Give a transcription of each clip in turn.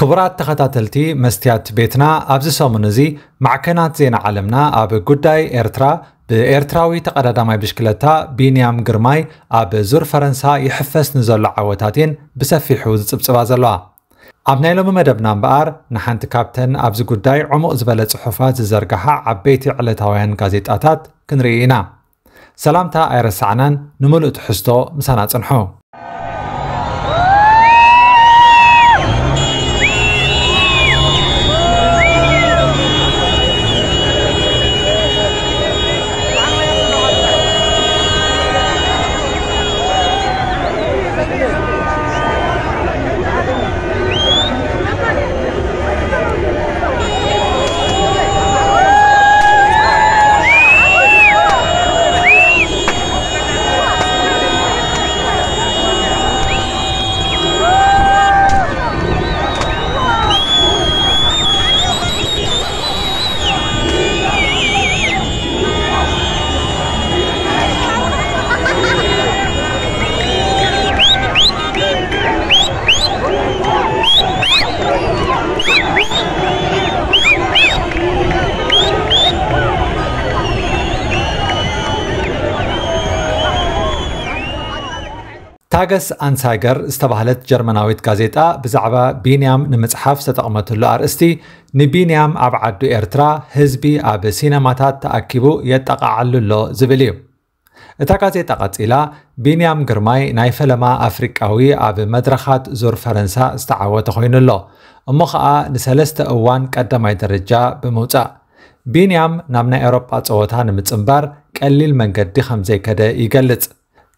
ክቡራት ተኸታተልቲ መስትያት ቤትና፣ ኣብዚ ሰሙን እዚ ማዕከናት ዜና ዓለምና ኣብ ጉዳይ ኤርትራ ብኤርትራዊ ተቐዳዳማይ ብሽክለታ ቢንያም ግርማይ ኣብ ዙር ፈረንሳ ይሕፈስ ንዘሎ ዓወታት እየን ብሰፊሑ ዝጽብጽባ ዘለዋ። ኣብ ናይ ሎሚ መደብና እምበኣር፣ ንሓንቲ ካብተን ኣብዚ ጉዳይ ዕሙቕ ዝበለ ጽሑፋት ዝዘርግሓ ዓበይቲ ዕለታውያን ጋዜጣታት ክንርኢ ኢና። ሰላምታ ኣይረሳዕናን፣ ንምሉእ ትሕዝቶ ምሳና ጽንሑ። ታገስ ኣንሳይገር ዝተባህለት ጀርመናዊት ጋዜጣ ብዛዕባ ቢንያም ንምጽሓፍ ዝተጠቕመትሉ ኣርእስቲ፣ ንቢንያም ኣብ ዓዱ ኤርትራ ህዝቢ ኣብ ሲነማታት ተኣኪቡ የጠቓዓሉ ኣሎ ዝብል እዩ። እታ ጋዜጣ ቀጺላ፣ ቢንያም ግርማይ ናይ ፈለማ ኣፍሪቃዊ ኣብ መድረኻት ዙር ፈረንሳ ዝተዓወተ ኮይኑ ኣሎ። እሞ ኸኣ ንሰለስተ እዋን ቀዳማይ ደረጃ ብምውጻእ። ቢንያም ናብ ናይ ኤውሮጳ ጸወታ ንምጽንባር ቀሊል መንገዲ ከም ዘይከደ ይገልጽ።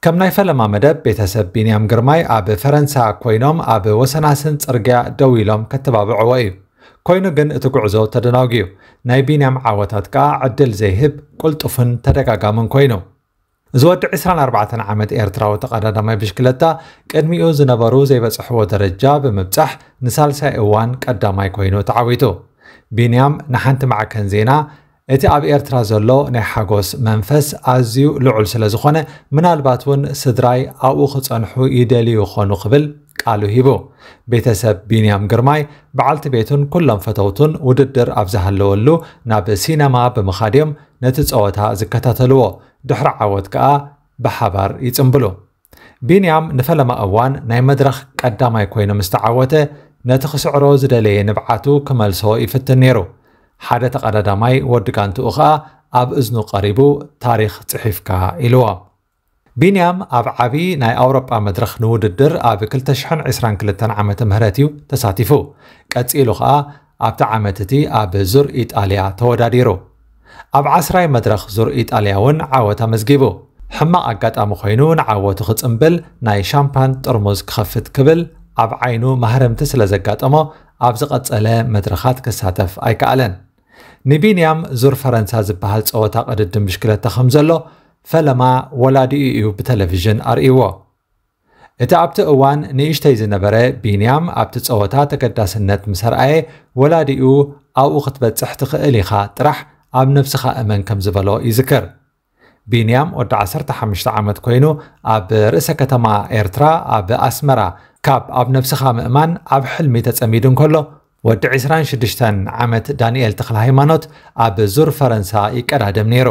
ከም ናይ ፈለማ መደብ፣ ቤተሰብ ቢንያም ግርማይ ኣብ ፈረንሳ ኮይኖም ኣብ ወሰናስን ጽርግያ ደው ኢሎም ከተባብዕዎ እዩ። ኮይኑ ግን እቲ ጉዕዞ ተደናጒዩ። ናይ ቢንያም ዓወታት ከኣ ዕድል ዘይህብ ቅልጡፍን ተደጋጋምን ኮይኑ። እዚ ወዲ ዕስራን ኣርባዕተን ዓመት ኤርትራዊ ተቐዳዳማይ ብሽክለታ ቅድሚኡ ዝነበሩ ዘይበጽሕዎ ደረጃ ብምብጻሕ ንሳልሳይ እዋን ቀዳማይ ኮይኑ ተዓዊቱ። ቢንያም ንሓንቲ ማዕከን ዜና፣ እቲ ኣብ ኤርትራ ዘሎ ናይ ሓጎስ መንፈስ ኣዝዩ ልዑል ስለ ዝኾነ፣ ምናልባት እውን ስድራይ ኣብኡ ክጸንሑ ይደልዩ ይኾኑ ክብል ቃሉ ሂቡ። ቤተሰብ ቢንያም ግርማይ፣ በዓልቲ ቤቱን ኩሎም ፈተውቱን ውድድር ኣብ ዝሃለወሉ ናብ ሲነማ ብምኻድ እዮም ነቲ ጸወታ ዝከታተልዎ። ድሕሪ ዓወት ከኣ ብሓባር ይጽምብሉ። ቢንያም ንፈለማ እዋን ናይ መድረኽ ቀዳማይ ኮይኑ ምስ ተዓወተ፣ ነቲ ክስዕሮ ዝደለየ ንብዓቱ ክመልሶ ይፍትን ነይሩ። ሓደ ተቐዳዳማይ ወዲ ጋንትኡ ኸኣ ኣብ እዝኑ ቀሪቡ፣ "ታሪኽ ጽሒፍካ" ኢልዎ። ቢንያም ኣብ ዓቢ ናይ ኣውሮጳ መድረኽ ንውድድር ኣብ ክልተ ሽሕን ዕስራን ክልተን ዓመተ ምህረት እዩ ተሳቲፉ። ቀጺሉ ኸኣ ኣብቲ ዓመት እቲ ኣብ ዙር ኢጣልያ ተወዳዲሩ። ኣብ ዓስራይ መድረኽ ዙር ኢጣልያ እውን ዓወት ኣመዝጊቡ። ሕማቕ ኣጋጣሚ ኮይኑ ንዓወቱ ክጽምብል ናይ ሻምፓን ጥርሙዝ ክኸፍት ክብል ኣብ ዓይኑ ማህረምቲ ስለ ዘጋጠሞ ኣብ ዝቐጸለ መድረኻት ክሳተፍ ኣይከኣለን። ንቢንያም ዙር ፈረንሳ ዝበሃል ጸወታ ቅድድም ብሽክለታ ከም ዘሎ ፈለማ ወላዲኡ እዩ ብቴሌቪዥን ኣርእይዎ። እቲ ኣብቲ እዋን ንእሽተይ ዝነበረ ቢንያም ኣብቲ ጸወታ ተገዳስነት ምስ ኣርኣየ፣ ወላዲኡ "ኣብኡ ክትበጽሕ ትኽእል ኢኻ፣ ጥራሕ ኣብ ነብስኻ እመን" ከም ዝበሎ ይዝክር። ቢንያም ወዲ ዓሰርተ ሓሙሽተ ዓመት ኮይኑ ኣብ ርእሰ ከተማ ኤርትራ ኣብ ኣስመራ ካብ ኣብ ነብስኻ ምእማን ኣብ ሕልሚ ተጸሚዱ እንከሎ፣ ወዲ ዕስራን ሽዱሽተን ዓመት ዳንኤል ተኽለሃይማኖት ኣብ ዙር ፈረንሳ ይቀዳደም ነይሩ።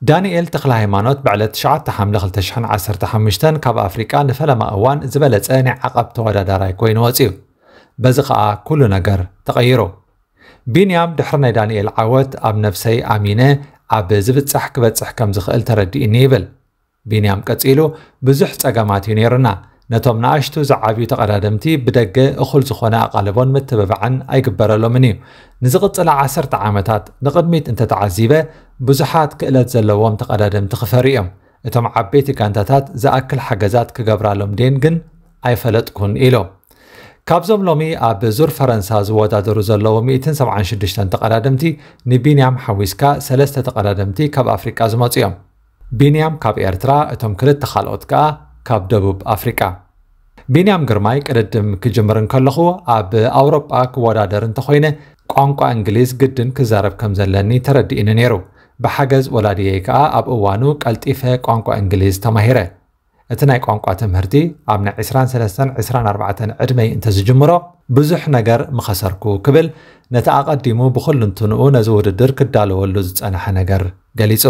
ዳንኤል ተኽለሃይማኖት ብዕለት ትሽዓተ ሓምለ ክልተ ሽሕን ዓሰርተ ሓሙሽተን ካብ ኣፍሪቃ ንፈለማ እዋን ዝበለጸ ናይ ዓቐብ ተወዳዳራይ ኮይኑ ወጺኡ። በዚ ኸኣ ኩሉ ነገር ተቐይሩ። ቢንያም ድሕሪ ናይ ዳንኤል ዓወት ኣብ ነብሰይ ኣሚነ ኣብ ዝብጻሕ ክበጽሕ ከም ዝኽእል ተረዲእኒ ይብል። ቢንያም ቀጺሉ፣ ብዙሕ ጸገማት እዩ ነይሩና። ነቶም ንኣሽቱ ዝዓብዩ ተቐዳደምቲ ብደገ እኹል ዝኾነ ኣቓልቦን ምትብባዕን ኣይግበረሎምን እዩ። ንዝቕጽላ ዓሰርተ ዓመታት ንቕድሚት እንተተዓዚበ፣ ብዙሓት ክእለት ዘለዎም ተቐዳደምቲ ክፈርዩ እዮም። እቶም ዓበይቲ ጋንታታት ዝኣክል ሓገዛት ክገብራሎም ድየን ግን ኣይፈለጥኩን ኢሉ። ካብዞም ሎሚ ኣብ ዙር ፈረንሳ ዝወዳደሩ ዘለዉ ሚእትን ሰብዓን ሽዱሽተን ተቐዳደምቲ ንቢንያም ሓዊስካ ሰለስተ ተቐዳደምቲ ካብ ኣፍሪቃ ዝመጹ እዮም። ቢንያም ካብ ኤርትራ፣ እቶም ክልተ ካልኦት ከኣ ካብ ደቡብ ኣፍሪቃ። ቢንያም ግርማይ ቅድድም ክጅምር እንከለኹ ኣብ ኣውሮጳ ክወዳደር እንተኾይነ ቋንቋ እንግሊዝ ግድን ክዛረብ ከም ዘለኒ ተረዲእኒ ነይሩ። ብሓገዝ ወላዲየይ ከኣ ኣብ እዋኑ ቀልጢፈ ቋንቋ እንግሊዝ ተማሂረ። እቲ ናይ ቋንቋ ትምህርቲ ኣብ ናይ ዕስራን ሰለስተን ዕስራን ኣርባዕተን ዕድመይ እንተዝጅምሮ ብዙሕ ነገር ምኸሰርኩ ክብል ነቲ ኣቐዲሙ ብኹልንትንኡ ነዚ ውድድር ክዳለወሉ ዝጸንሐ ነገር ገሊጹ።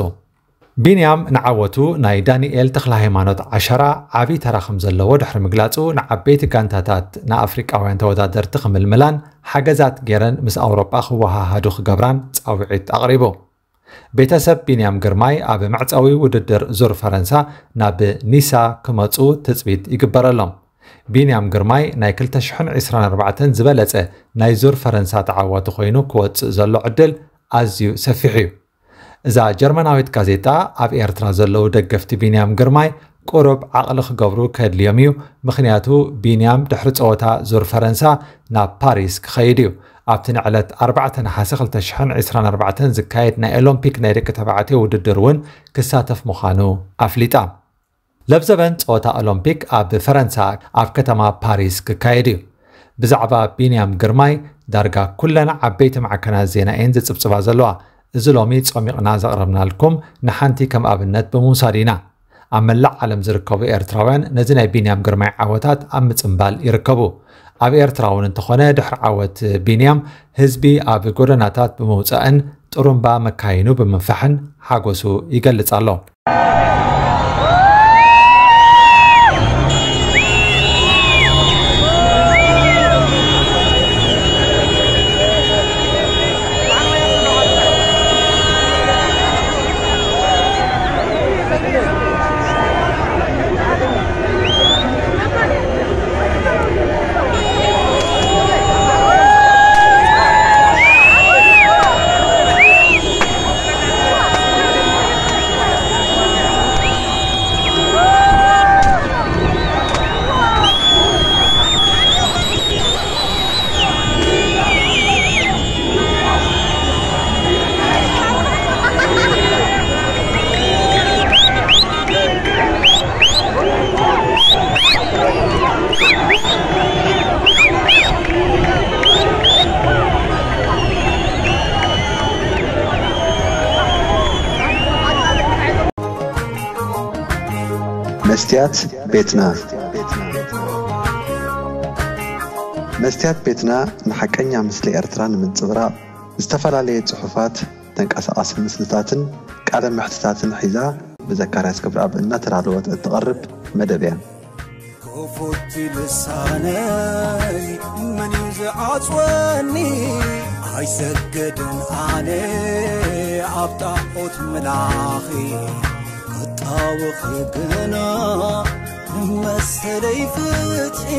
ቢንያም ንዓወቱ ናይ ዳንኤል ተኽለሃይማኖት ዓሸራ ዓቢ ተራ ከም ዘለዎ ድሕሪ ምግላጹ ንዓበይቲ ጋንታታት ንኣፍሪቃውያን ተወዳደርቲ ክምልምላን ሓገዛት ገይረን ምስ ኣውሮጳ ክወሃሃዱ ክገብራን ጻውዒት ኣቕሪቡ። ቤተሰብ ቢንያም ግርማይ ኣብ መዕጸዊ ውድድር ዙር ፈረንሳ ናብ ኒሳ ክመጹ ትጽቢት ይግበረሎም። ቢንያም ግርማይ ናይ ክልተ ሽሕን ዕስራን ኣርባዕተን ዝበለጸ ናይ ዙር ፈረንሳ ተዓዋቲ ኮይኑ ክወጽእ ዘሎ ዕድል ኣዝዩ ሰፊሕ እዩ። እዛ ጀርመናዊት ጋዜጣ ኣብ ኤርትራ ዘለዉ ደገፍቲ ቢንያም ግርማይ ቁሩብ ዓቕሊ ክገብሩ ከድልዮም እዩ። ምኽንያቱ ቢንያም ድሕሪ ጸወታ ዙር ፈረንሳ ናብ ፓሪስ ክኸይድ እዩ። ኣብቲ ንዕለት ኣርባዕተ ነሓሰ ክልተ ሽሕን ዕስራን ኣርባዕተን ዝካየድ ናይ ኦሎምፒክ ናይ ደቂ ተባዕትዮ ውድድር እውን ክሳተፍ ምዃኑ ኣፍሊጣ። ለብዘበን ጸወታ ኦሎምፒክ ኣብ ፈረንሳ ኣብ ከተማ ፓሪስ ክካየድ እዩ። ብዛዕባ ቢንያም ግርማይ ዳርጋ ኩለን ዓበይቲ ማዕከናት ዜና እየን ዝጽብጽባ ዘለዋ። እዚ ሎሚ ጾሚቕና ዘቕረብናልኩም ንሓንቲ ከም ኣብነት ብምውሳድ ኢና። ኣብ መላእ ዓለም ዝርከቡ ኤርትራውያን ነዚ ናይ ቢንያም ግርማይ ዓወታት ኣብ ምጽምባል ይርከቡ። ኣብ ኤርትራ እውን እንተኾነ ድሕሪ ዓወት ቢንያም ህዝቢ ኣብ ጎደናታት ብምውጻእን ጥሩምባ መካይኑ ብምንፋሕን ሓጎሱ ይገልጽ ኣሎ። መስትያት ቤትና። መስትያት ቤትና ንሓቀኛ ምስሊ ኤርትራ ንምንጽብራቕ ዝተፈላለየ ጽሑፋት፣ ተንቀሳቓሲ ምስልታትን ቃለ መሕትታትን ሒዛ ብዘካርያስ ክብረኣብ እናተዳለወት እትቐርብ መደብ እያ። ክፉት ልሳነይ መን እዩ ዝዓጽወኒ? ኣይሰግድን ኣነ ኣብ ጣዖት ምላኺ ክጣወኺ ግና መሰለይ ፍትሒ